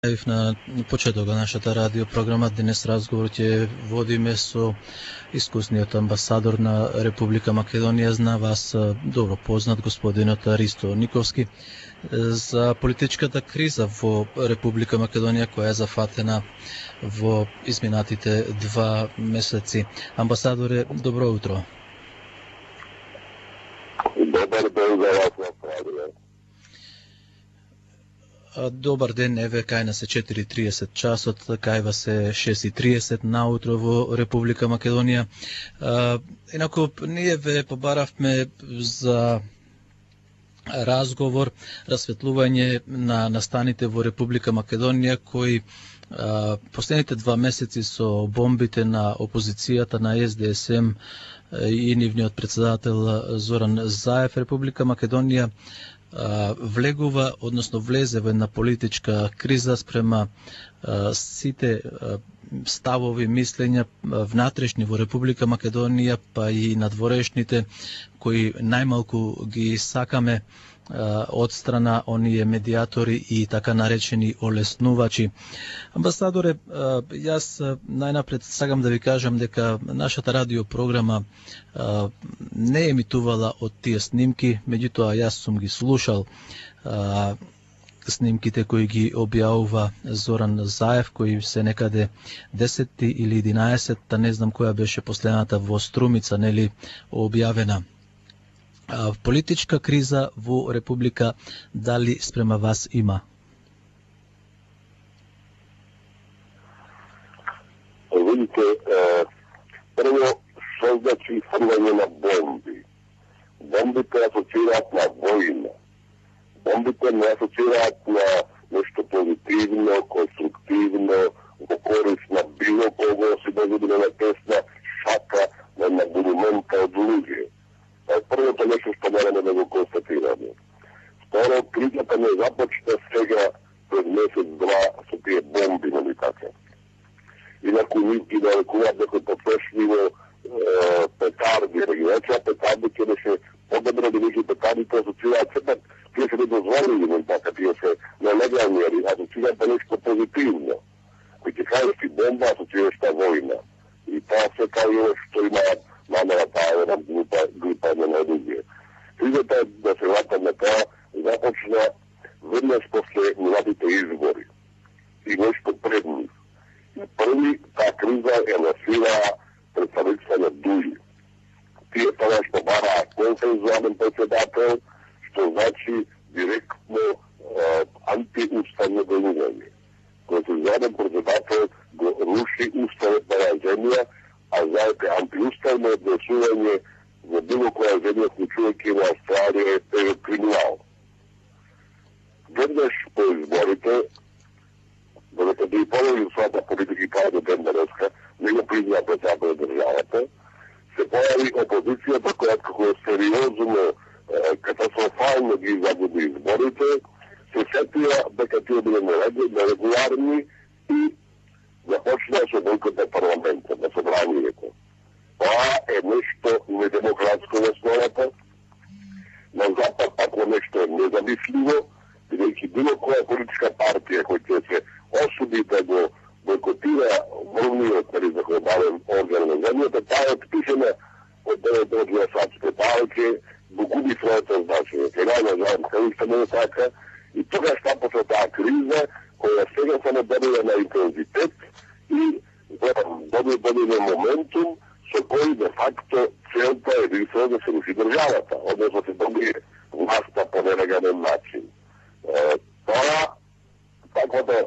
На почеток на нашата радио програма денес разговор ќе водиме со искусниот амбасадор на Република Македонија, зна вас добро познат господинот Ристо Никовски, за политичката криза во Република Македонија која е зафатена во изминатите 2 месеци. Амбасадоре, добро утро. Добар ден за вас на радио. Добар ден, еве кај нас е 4:30 часот, кај вас е 6:30 наутро во Република Македонија. Инаку, ние ве побаравме за разговор, расветлување на настаните во Република Македонија, кои последните 2 месеци со бомбите на опозицијата на СДСМ и нивниот председател Зоран Заев, Република Македонија влегува, односно влезе во една политичка криза спрема сите ставови, мислења внатрешни во Република Македонија, па и надворешните, кои најмалку ги сакаме од страна оние медиатори и така наречени олеснувачи. Амбасадоре, јас најнапред сакам да ви кажам дека нашата радиопрограма не емитувала од тие снимки, меѓутоа јас сум ги слушал снимките кои ги објавува Зоран Заев, кои се некаде 10 или 11, не знам која беше последната во Струмица, нели, објавена. Политичка криза во Република, дали спрема вас има? Видите, прво, што значи фрлање на бомби? Бомбите асоцираат на војна. Бомбите не асоцираат на нешто позитивно, конструктивно, во корист на било кого, си да биде на тесна шака, на монумента од луѓе. Првото нешто што мораме да го констатираме. Второ, кризата не започна сега пред месец-два со тие бомби, нали така. Инаку нити да рекуваат дека потрошливо петарди, да ги речеа петарди, ќе беше подобро да веќе петардите асоцираат сепак, тие се недозволени, нали така, тие се нелегални, асоцираат да нешто позитивно. Кој ќе кажеш ти бомба, асоцираш та војна. И тоа се кај што имаат намера таа една група на луѓе. Кризата да се вратам на тоа започна веднаш после младите избори и нешто пред нив. И први таа криза е насила представителства на ДУИ. Тие тоа што бараа консензуален председател, што значи директно антиуставно делување. Консензуален председател го руши уставот на земја, а знаете, антиуставно однесување во било која земја, вклучувајќи во Австралија, е криминал. Веднаш по изборите, додека да и положи својата политика кај до ден денеска, не го признаа председател на државата, се појави опозицијата која како сериозно, катастрофално ги загуби изборите, се сетија дека тие биле нерегуларни и започна со бойкот на парламентот, на собранието. Тоа е нешто недемократско во основата, на Запад ако нешто е незамисливо, бидејќи било која политичка партија која ќе се осуди да го бойкотира врвниот законодавен орган на земјата, таа е отпишена од гласачите, таа ќе го губи своето значење. Сега најнажалост, кај не е така, и тогаш почна таа криза, која сега само добива на интензитет и добива моментум со кој де факто целта е единствено да се руши државата, односно се добие власта по нелегален начин. Тоа, таквата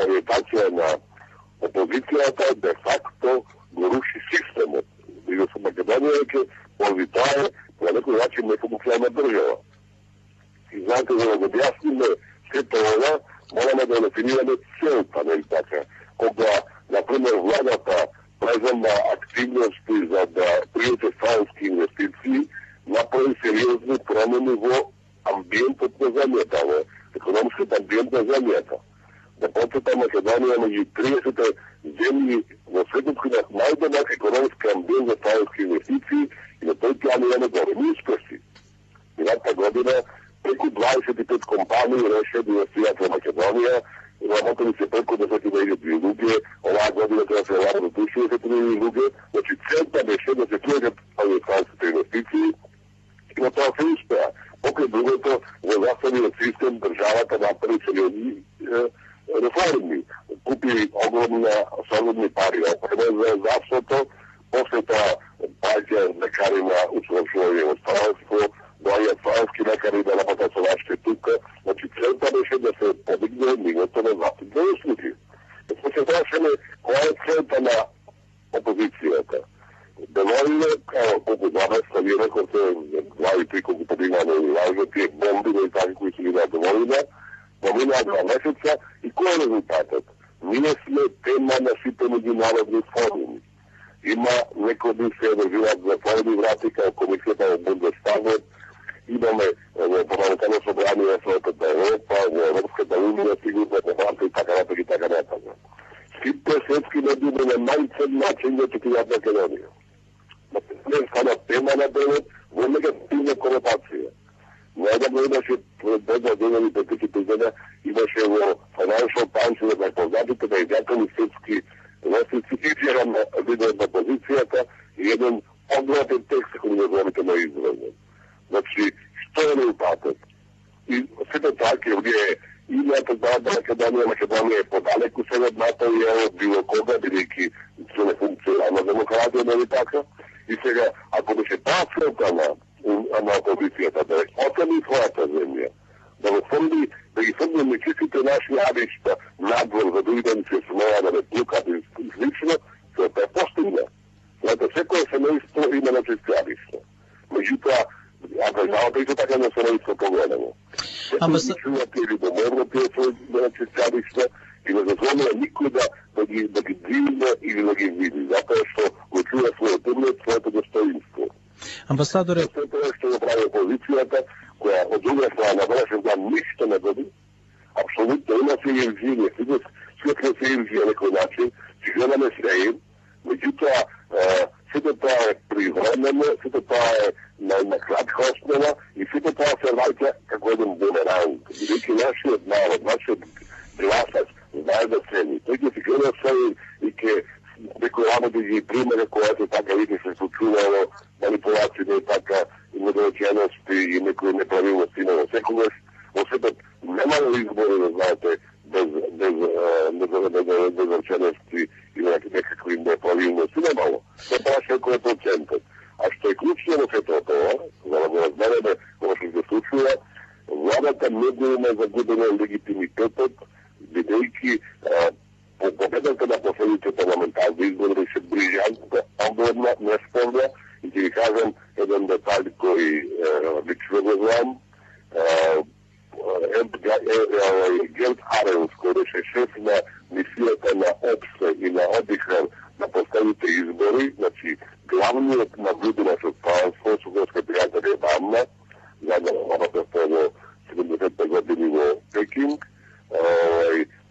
ориентација на опозицијата де факто го руши системот. И во Македонија ќе поради тоа е на некој начин нефункционална држава. И знаете, за да го објасниме сето ова, мораме да дефинираме целта, нели така. Кога, например, владата презема активности за да пријате странски инвестиции, направи сериозни промени во амбиентот на земјата, во економскиот амбиент на земјата. Да почета Македонија меѓу 30 земји во светот кои имаат најдобар економски амбиент за странски инвестиции и на тој план имаме големи успеси. Минатата година преку 25 компании решија да инвестираат во Македонија работили се преку 10.000 луѓе, оваа година треба се работи до 60.000 луѓе, значи целта беше да се приведат американските инвестиции и на тоа се успеа. Покрај другото, во заставниот систем државата направи сериозни реформи. Купи огромни пари опрема за здравството, после тоа паѓа лекари на усовршување во странство, доаѓаат странски лекари да работат со нашите тука. Значи целта беше да се подигне нивото на здравствените услуги. Се прашаме која е целта на опозицијата. Доволно, колку заместа ви рековте, глави три колку подигнаме и важно, тие бомби и таки кои се видат доволно, поминаа 2 месеца и кој е резултатот? Ние сме тема на сите меѓународни форуми. Има некои се одржуваат затворени врати као комисијата во Бундестагот, имаме во парламентарно собрание на Советот на Европа, во Европската унија, сигурно дебата и така натаму. Сите светски медии на најцен начин да четуваат Македонија. Не стана тема на денот во негативна конотација. Најдобро имаше пред 2 години, пред 3 години, имаше во Financial Times на најпознатите најдјателни светски вестници изјава на лидерот на опозицијата и еден огромен текст кој го говорите на израелен. Значи, што е резултатот? И сето тоа ќе вие имате да Македонија е подалеку се од НАТО и од било кога, бидејќи се не функционална демократија, нели така? И сега, ако беше таа целта на опозицијата да отцени својата земја, да ги фрли нечистите наши аришта надвор за други да ни се смеја да не плукат и слично, целта е постигна. Знаете, секој семејство има нечисти аришта. Меѓутоа, а државата и така не се наистина погледamo. Секој чувате или доморно тие своји нечисти аришта и не дозволува никој да ги движне или да ги види, затоа што го чува својот углед, своето достоинство. Амбасадоре, тоа што го прави опозицијата, која од друга страна на днешен дан ништо не доби, апсолутно има се илузија, светле се илузија некој начин, че гледаме среим, меѓутоа сето тоа е привремено, сето тоа е на кратка основа и сето тоа се враќа како еден бумеранг. Бидејќи нашиот народ, нашиот гласач знае да цени. Тој ќе се гледа се и ќе некој работи ги примере којато така види се случувало, манипулации, така и недоречености и некои неправилности, но секогаш во светот немало избори, да знаете, без недоречености или некакви неправилности, немало. Се праша кој е процентот. А што е клучно во сето тоа, за да го разбереме ова што се случува, владата многу има загубено легитимитетот, бидејќи победата на последните парламентарни избори се ближанка, огромна, неспорна, и ќе ви кажам еден детај кој лично го знам. Герт Аренс, кој беше шеф на мисијата на ОПСЕ и на ОДИХР на последните избори, значи главниот наблюдувач од правенство, сугорска пријател Адамна, заедно работа во 70 години во Пекинг,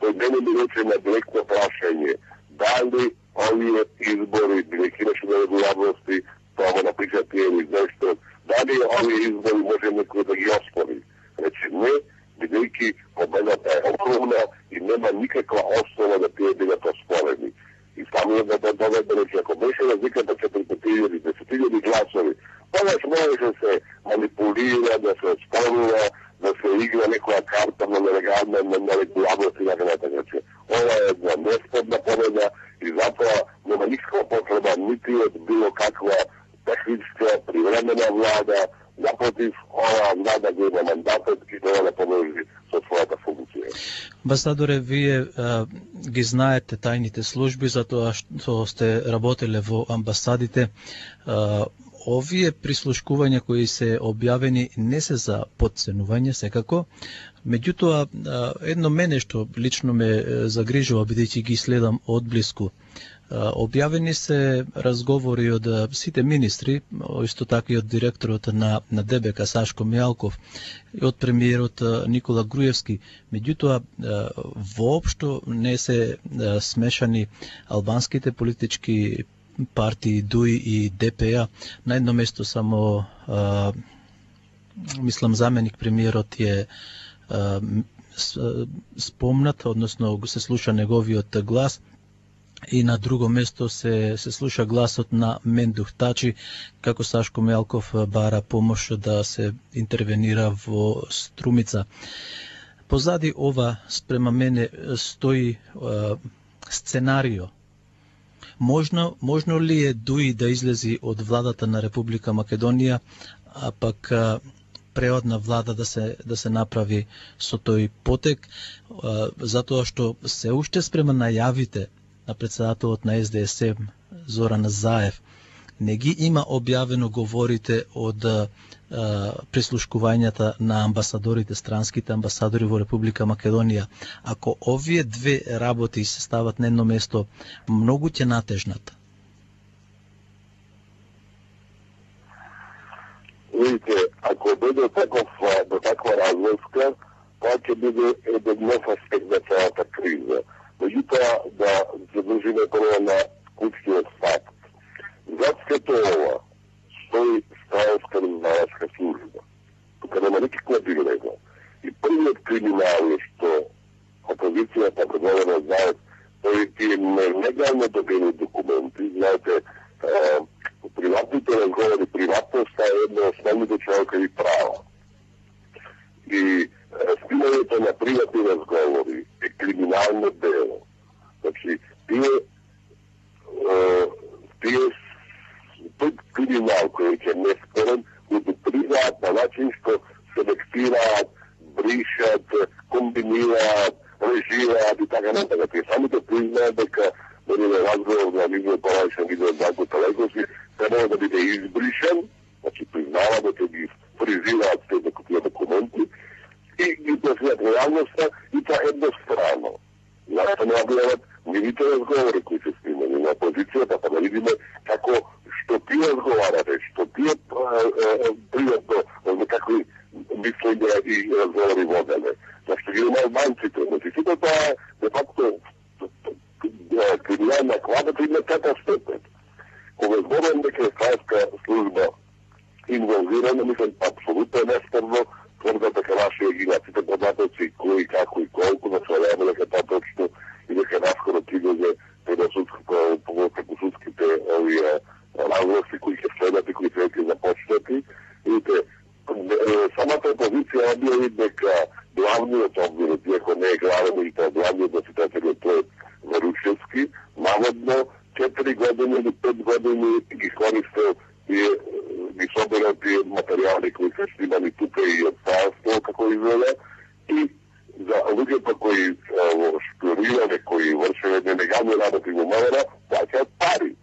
тој мене ми рече на директно прашање дали овие избори, бидејќи имаше нерегуларности, тоа го напиша тие или нешто, дали овие избори може некој да ги оспори. Рече не, бидејќи победата е огромна и нема никаква основа да тие бидат оспорени. И самиот да доведе рече, ако беше разликата 4.000 или 10.000 гласови, тогаш можеше се манипулира, да се оспорува, да се игра некоја карта на нерегуларност и така натаму. Ова е една неспорна победа и затоа нема никаква потреба нити од било каква техничка привремена влада, напротив, ова влада го има мандатот и треба да продолжи со својата функција. Амбасадоре, вие ги знаете тајните служби, затоа што сте работеле во амбасадите. Овие прислушкувања кои се објавени не се за потценување секако, меѓутоа едно мене што лично ме загрижува бидејќи ги следам одблиску. Објавени се разговори од сите министри, исто така и од директорот на ДБК Сашко Мијалков и од премиерот Никола Груевски. Меѓутоа воопшто не се смешани албанските политички партии ДУИ и ДПА. На едно место само мислам заменик премиерот е спомнат, односно се слуша неговиот глас, и на друго место се слуша гласот на Мендух Тачи, како Сашко Мелков бара помош да се интервенира во Струмица. Позади ова, спрема мене, стои сценарио. Можно ли е Дуи да излези од владата на Република Македонија, а пак преодна влада да се направи со тој потек, затоа што се уште спрема најавите на председателот на СДСМ Зоран Заев не ги има објавено говорите од прислушкувањата на амбасадорите, странските амбасадори во Република Македонија. Ако овие две работи се стават на едно место, многу ќе натежнат. Видите, ако биде таква разлика, тоа ќе биде еден нов аспект на целата криза. Меѓутоа, да задржиме прво на клучниот факт. Зад сето ова стои Странска разузнавачка служба. Тука нема никаква дилема. И првиот криминал е што опозицијата предводена знаат тие нелегално добени документи. Знаете, приватните разговори, приватноста е една од основните човекови права. И спимањето на приватни разговори е криминално дело. Значи, тој криминал кој е неспорен, го допризаат на начин што селектираат, бришат, комбинираат, режираат и така натака. Тие самите признаат дека разговор на видео парајшен видео Данко Талековски треба да биде избришен, значи признава дека ги фризираат тие документи и ги пресвијат реалноста и тоа едностранно. Зашто не објават нивните разговори кои се снимани на опозицијата, па да видиме како што тие разговарате, што тие приватно некакви мислења и разговори воделе. Зашто ги има албанците. Значи, сите тоа е, де факто, криминална кладата има тета степен. Кога зборам дека е Странска служба инволвирана, мислам, апсолутно е неспорно, тврдат дека нашите гигаците податоци, кои, како и колку, да се одјаваме дека тоа точно и дека наскоро тигање преку судските овие разлози кои ќе следат и кои ќе започнати. Видите, самата опозиција објави дека главниот обвинет, иако не е главен и тоа главниот носител тој Варушевски, наводно 4 години или 5 години ги користел и ги соберал тие материјали кои се снимани тука и од Сајавство, како изгледа, и за луѓето кои шпионирале, кои вршеле нелегални работи во МВР, плаќаат пари.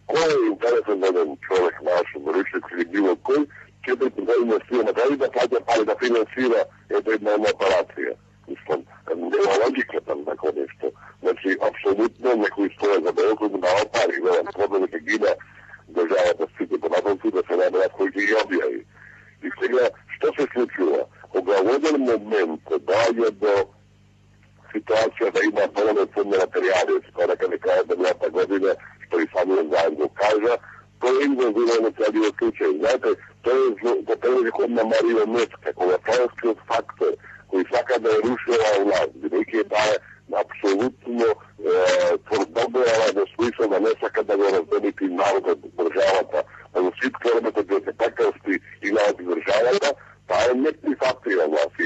Кој е интересен за еден човек наш, Варушевски или било кој, 4 години снима дали да плаќа пари да финансира една операција. Мислам, нема логика там тако нешто. Значи, апсолутно некој стоја за дело кој му дава пари, велам, треба да гида државата сите понатоци да се наберат кои ги објави. И сега, што се случува? Кога во еден момент доаѓа до ситуација да има доволно ценни материјали, скоро дека не кажа мината година, што и самиот заедно го кажа, тој е инволвирано целиот случај. Знаете, тој е за телевизионна марионетка, кога тројскиот фактор, кој сака да е рушила власт, бидејќи таа е апсолутно тврдобојава во смисла да не сака да го раздобити народот, државата, да го ситкарбете да се пакалсти и народи државата, таа е неприфатлива власт.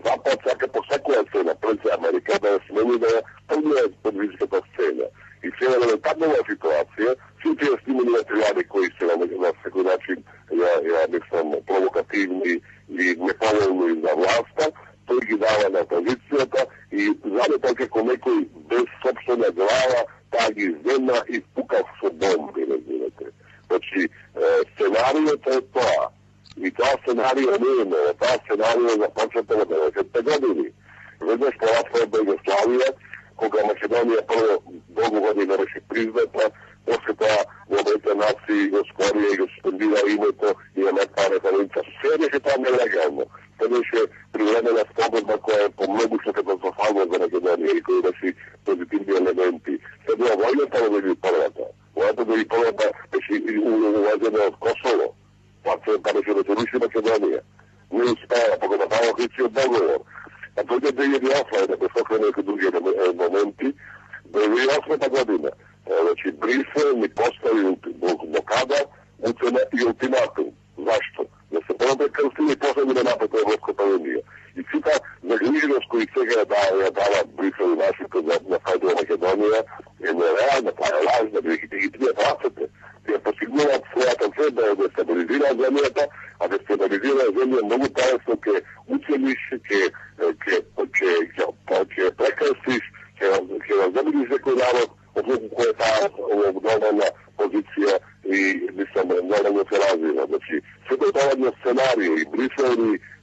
Запад сака по секоја цена, пред Америка, да ја смени да ја тргне подвижката сцена. И сега на таква ситуација, сите тие снимани материјали кои се на секој начин, ја мислам, провокативни и неповолни за власта, тој ги дава на опозицијата и заде тоа како некој без собствена глава, таа ги земна и пука со бомби, разбирате. Значи, сценаријето е тоа. И тоа сценаријо не е ново, тоа сценаријо започнато во 90-те години. Веднаш по распад Југославија, кога Македонија прво долго година беше призната, после тоа во Обединетите нации го скорија и го суспендира името и ја таа референца. Се беше тоа нелегално. Тоа беше привремена спогодба која е помногуше катастрофална за Македонија и која беше позитивни елементи. Се била војната во 2001-та. Војната во 2001-та беше увезена од Косово. Пацента беше да се руши Македонија. Не успеа, па го направи Охридскиот договор. А моменти. 2008 година, значи Брисел ни постави блокада, уцена и ултиматум. Зашто? Да се борат крстили и после да напад Европската унија. И сите загриженост кои сега ја дава Брисел и Вашингтон на фајдо Македонија е нереална, таа е лажна, бидејќи ги тие праците. Тие постигнуваат својата цел да стабилизираат земјата, а да стабилизираат земја многу полесно ќе уцениш, ќе прекрстиш, ќе раздобиш некој народ, одлуку кој е таа обдолна позиција и мислам нормално се развива. Значи, сето тоа сценарија и Брисел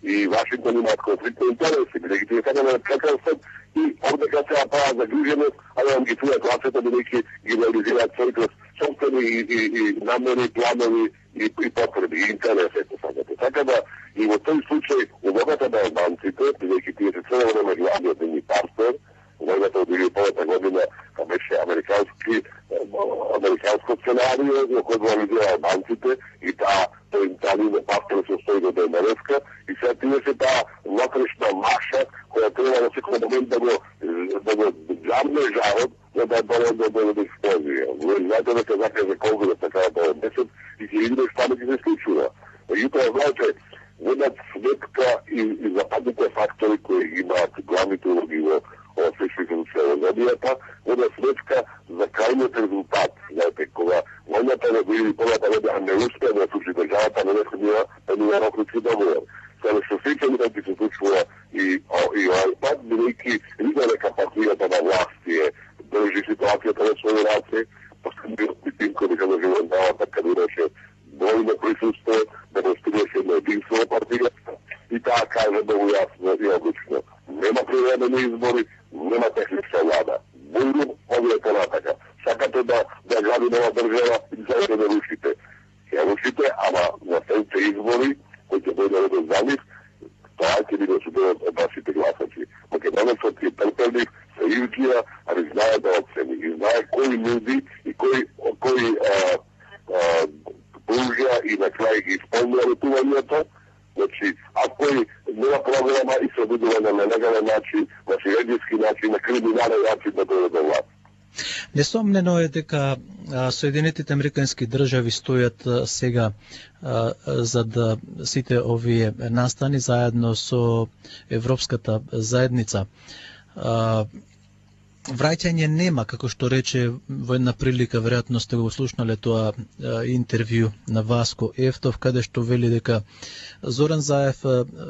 и Вашингтон имаат конфликтни интереси, бидејќи тие така да прекрстат и овдека се прават загриженост, а да ги чујат гласите, бидејќи ги реализираат своите собствени и намери, планови и потреби, и интереси, така да и во тој случај улогата на албанците, бидејќи тие се цело време главниот ни партнер, војната од 2001 година беше американско сценарио во кој го реализира албанците и тој нивен партнер се стои до денеска и сега тие се таа внатрешна маша која треба на секој момент да го джамне жарот за да бъде експлозија. Вие знаете дека закаже Конгрес така тоа месец и ќе видите што ќе се случува. Меѓутоа, знаете, водат сметка и западните фактори кои имаат главните улоги во земјата, водат сметка за крајниот резултат. Знаете, кога војната на 2001 година не успеа да случи државата, не необходимо еден Охридски договор. Сега што сеќам да ќе се случува и овој пат, бидејќи вида дека партијата на власти држи ситуацијата на своји раце, последниот митинг кој дека живеендавата каде имаше бројно присуство, демонстрираше едно единство на партијата и таа кажа многу јасно и одлучно. Нема приведени избори, нема техничка влада. Бујно овие понатака. Сакате да гради нова држава и сакате да рушите. Ја рушите, ама на следните избори, кои ќе дојде реден за нив, тоа ќе биде судено од вашите гласачи. Македонецот е трпелив, се илкија, али знае да оцени. И знае кои нуди и кои пружа и на крај ги исполнува ветувањето. Значи, ако нема програма и се обидува на нелегален начин, на сиредиски начин, на криминален начин да дојде до власт. Несомнено е дека Соединетите Американски држави стојат сега за да сите овие настани заедно со Европската заедница. Враќање нема, како што рече во една прилика, веројатно сте го слушнале тоа интервју на Васко Ефтов, каде што вели дека Зоран Заев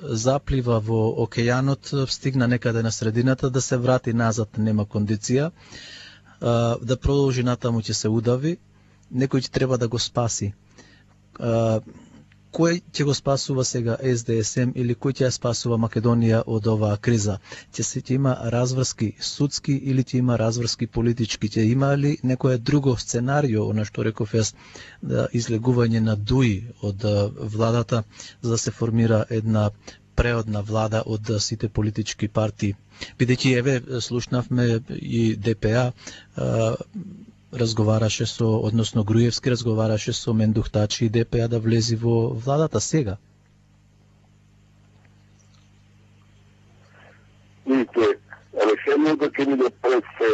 заплива во океанот, стигна некаде на средината, да се врати назад нема кондиција, да продолжи натаму ќе се удави, некој ќе треба да го спаси. Кој ќе го спасува сега СДСМ или кој ќе ја спасува Македонија од оваа криза? Ќе има разврски судски или ќе има разврски политички? Ќе има ли некое друго сценарио, она што реков јас, излегување на дуи од владата за да се формира една преодна влада од сите политички партии? Бидејќи еве слушнавме и ДПА разговараше односно Груевски разговараше со Мендухтачи и ДПА да влези во владата сега. Видите, решението ќе биде пред се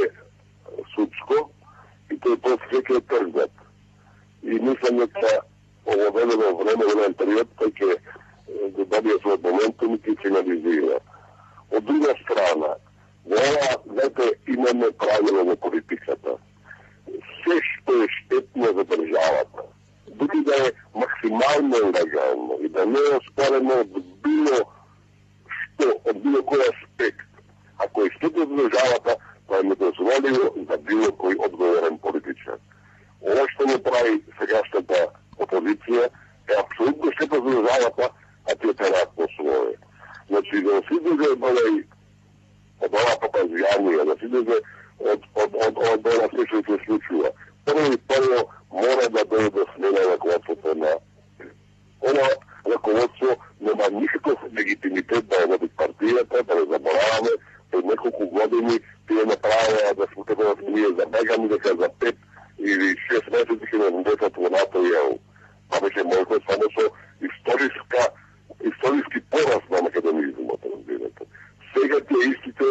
судско и тој после ќе тргнат. И мислам дека ово велено време, еден период, тој ќе добие својот моментум и ќе финализира. Од друга страна, во ова, знаете, имаме правило во политиката. Се што е штетно за државата, дури да е максимално легално и да не е оспорено од било што, од било кој аспект, ако е штетно за државата, тоа е недозволиво за било кој одговорен политичар. Ова што не прави сегашната опозиција е апсолутно штетно за државата, а тие терат по своје. Значи, да се излезе од ова попазјанија, да се излезе од ова што се случува. Прво мора да дојде смена раководството на ова раководство, нема никаков легитимитет да води партијата, да не забораваме, пред неколку години тие направија да се утекуват ние забегани дека за 5 или 6 месеци ќе не влезат во НАТО и ЕУ. Па беше можно само со историски пораз на македонизмот, разбирате. Сега тие истите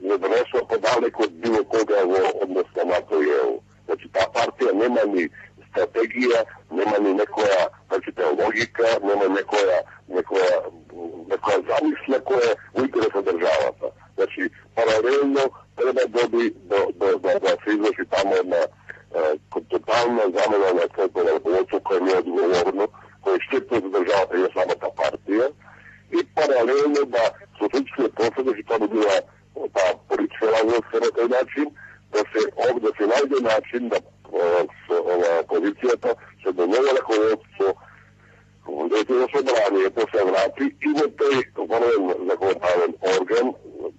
не донесува подале далеко од било кога во однос на НАТО и ЕУ. Значи, таа партија нема ни стратегија, нема ни некоја, значи, логика, нема некоја замисла која во интерес на државата. Значи, паралелно треба да се изврши тамо една тотална замена на центро на ръководство, која не е одговорно, која штетно за државата и на самата партија, и паралелно да социјалистичкиот процес, значи тоа би била таа политичка разлика на тој начин, да се најде начин да опозицијата се до ново ръководство во собранието се врати и во тој врвен законодавен орган,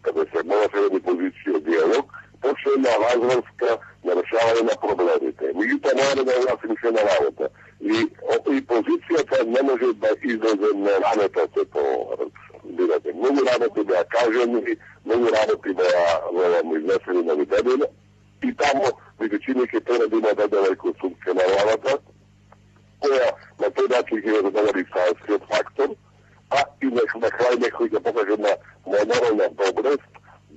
каде се многоферни позиции од диалог, почне на разврска на решавање на проблемите. Меѓутоа мора да власи се на работа. И позицијата не може да излезе на ранета се видите. Многу работи да кажени, многу работи да изнесени на видење и тамо медицини ќе треба да има дадена реконструкција на работа, која на тој начин ќе задоволи сајнскиот фактор, а и на крај некој ќе покаже на модерна доброст,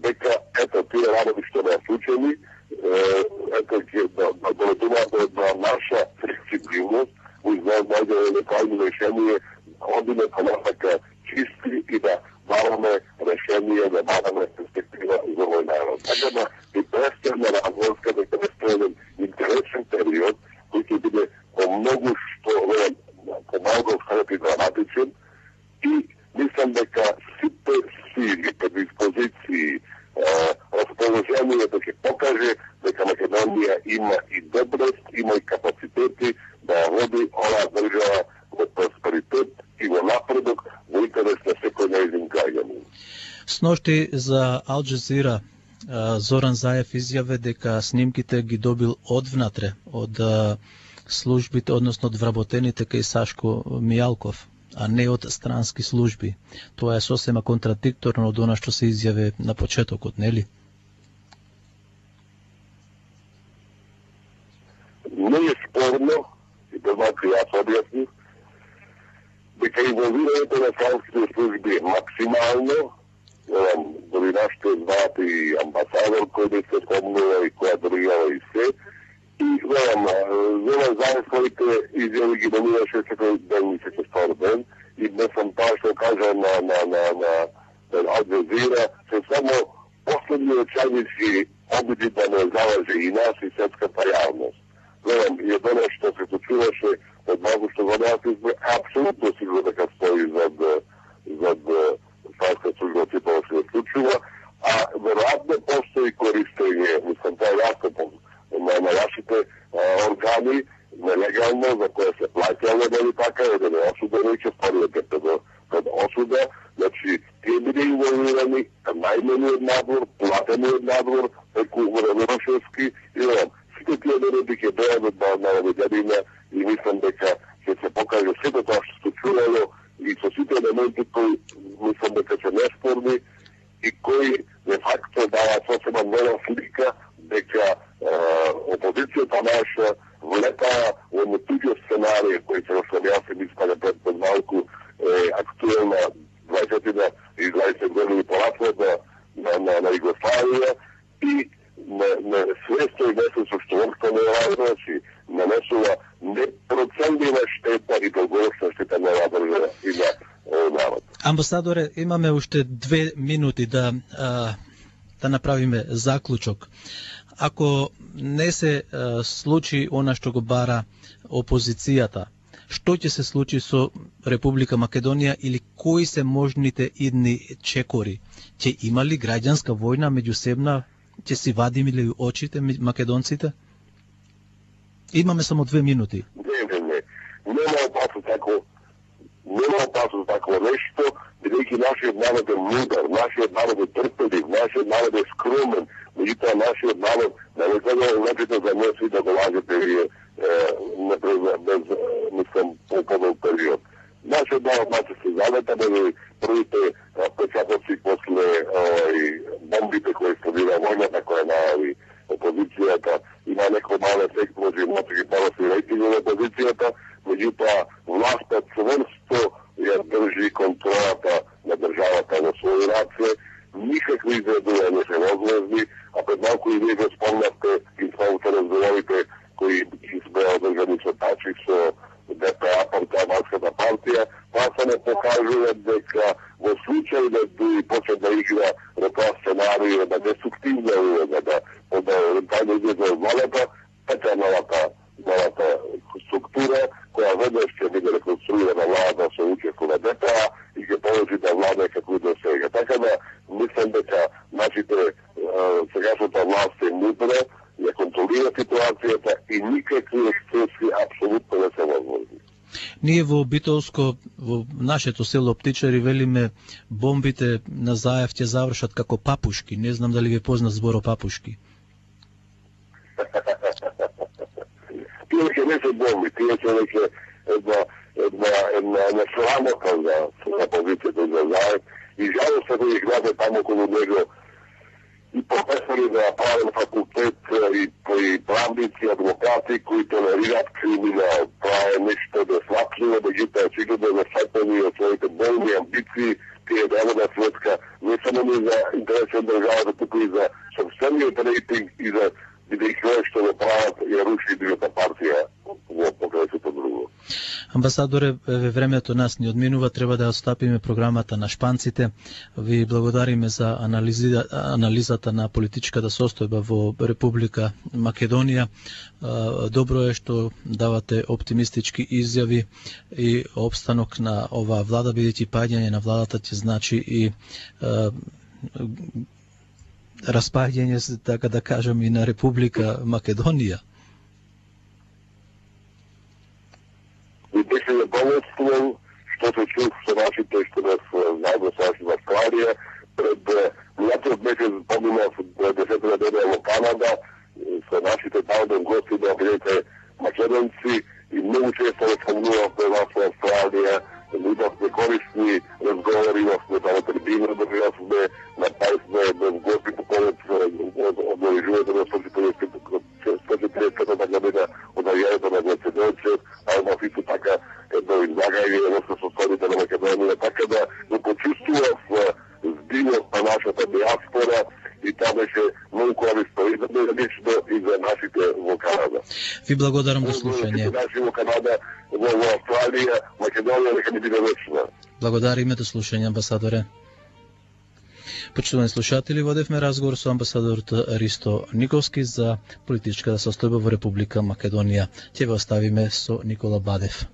дека ето тие работи што не случени, ето ќе доведуваат до наша флексибилност, најде некој решение, одиме понатака чисти и да бараме решение, да бараме перспектива за овој народ. Така да и престана разврска, дека престана интересен период, кој ќе биде многу што помалку и драматичен и мислам дека сите сили, предиспозиции, расположението ќе покаже дека Македонија има и доброст, има и капацитети да води оваа држава во просперитет и во напредок во интерес на секој нејзин граѓанин. Сношти за Ал Джазира Зоран Заев изјаве дека снимките ги добил одвнатре од службите, односно од вработените кај Сашко Мијалков, а не од странски служби. Тоа е сосема контрадикторно од она што се изјаве на почетокот, нели? Не е спорно, и предмалку јас објаснив, дека инволвирањето на странските служби е максимално, дори нашите звати и амбасадор кој да се спомнува и која држава и се, и Зоран Заев своите изјави ги доминаше секој ден и секој втор ден, и не сам тоа што кажа на Ал Джазира, се само последни очајници обиди да не залаже и нас и светската јавност. И тоа што се случуваше од малку што во нас избор, апсолутно сигурно дека стои зад странска служба че тоа се случува, а веројатно постои користење, мислам тоа е јасно на вашите органи, нелегално, за која се платјало, дали така, да не осудено и ќе вторијате пред осуда, значи, тие биде инволвирани, најмени од надвор, платени од надвор, преку Вороношевски, и сите тие народи ќе дојдат на наведенина и мислам дека ќе се покаже сето тоа што случувало и со сите елементи кои мислам дека се неспорни и кои де факто даваат сосема нова слика дека опозицијата наша влета во туѓи сценарија кои се јас мислам пред малку актуелна 20 години поратва на Југославија и на свесто и несвесто што општо не значи нанесува непроценлива штета и долгорочна штета на оваа држава и на народ. Амбасадоре, имаме уште 2 минути да направиме заклучок. Ако не се случи она што го бара опозицијата, што ќе се случи со Република Македонија или кои се можните идни чекори? Ќе има ли граѓанска војна меѓусебна? Ќе си вадиме ли очите македонците? Имаме само 2 минути. Не. Нема опасно такво нешто, бидејќи нашиот народ е мудар, нашиот народ е трпелив, нашиот народ е скромен, меѓутоа нашиот народ не може да лепите за меси да го лажете вие без, мислам, по-подол период. Нашиот народ се завета да ви првите печатоци после бомбите кои следира војната која најави опозицијата, има некој мал ефект, може и мотоги поросли рейтинг на опозицијата, меѓутоа властта цврсто ја држи контролата на државата во своји раце никакви изредувања не се возможни, а пред малку и вие го спомнавте и самите разговорите кои сме одржани со Тачик, со ДПА, Албанската партија, тоа само покажува дека во случај да почне да игра во тоа сценарио, да деструктивна улога, да излезе од владата, така новата структура, која веднаш ќе биде реконструирана владата со учество на ДПА и ќе положи да влада како и до сега. Така да, мислам дека нашите сегашната власт е мудра, ја контролира ситуацијата и никакви ексцеси апсолутно не се возможни. Ние во Битолско, во нашето село Птичари, велиме бомбите на Заев ќе завршат како папушки. Не знам дали ви познат зборо папушки. Тие ќе не се бомби, тие ќе веќе една срамота за позицијата за Заев и жалостно да ги гледа таму околу него и професори на правен факултет и правници, адвокати кои толерираат криминал. Тоа е нешто несватливо, да ги очигледно засетени од своите болни амбиции, тие да светка не само не за интереси од државата, туку и за собствениот рейтинг и за бидејќи што го прават и руши другата партија во покрајството друго. Амбасадоре, времето нас ни одминува, треба да остапиме програмата на шпанците. Ви благодариме за анализата на политичката состојба во Република Македонија. Добро е што давате оптимистички изјави и обстанок на оваа влада, бидејќи паѓање на владата ќе значи и распаѓање, така да кажам, и на Република Македонија. И беше задоволствуван што се чув со нашите што нас заедно со нашите Австралија. Пред минатиот месец поминав 10 неделя во Канада со нашите таму гости да бидете македонци и многу често спомнувавме вас во Австралија. Имавме корисни разговори, имавме таму трибина, државме на пајсме гости по повод обложувањето на 140-та година од ајањето на Македонци, а имав исто така едно излагање во состојбите на Македонија, така да го почувствував збивот на нашата диаспора и тоа беше многу корисно и за мене лично и за нашите во Канада. Ви благодарам за слушање. Наши во Канада, во Австралија, Македонија нека ни биде вечна. Благодариме до слушање, амбасадоре. Почитувани слушатели, водевме разговор со амбасадорот Ристо Николски за политичката состојба во Република Македонија. Ќе ве оставиме со Никола Бадев.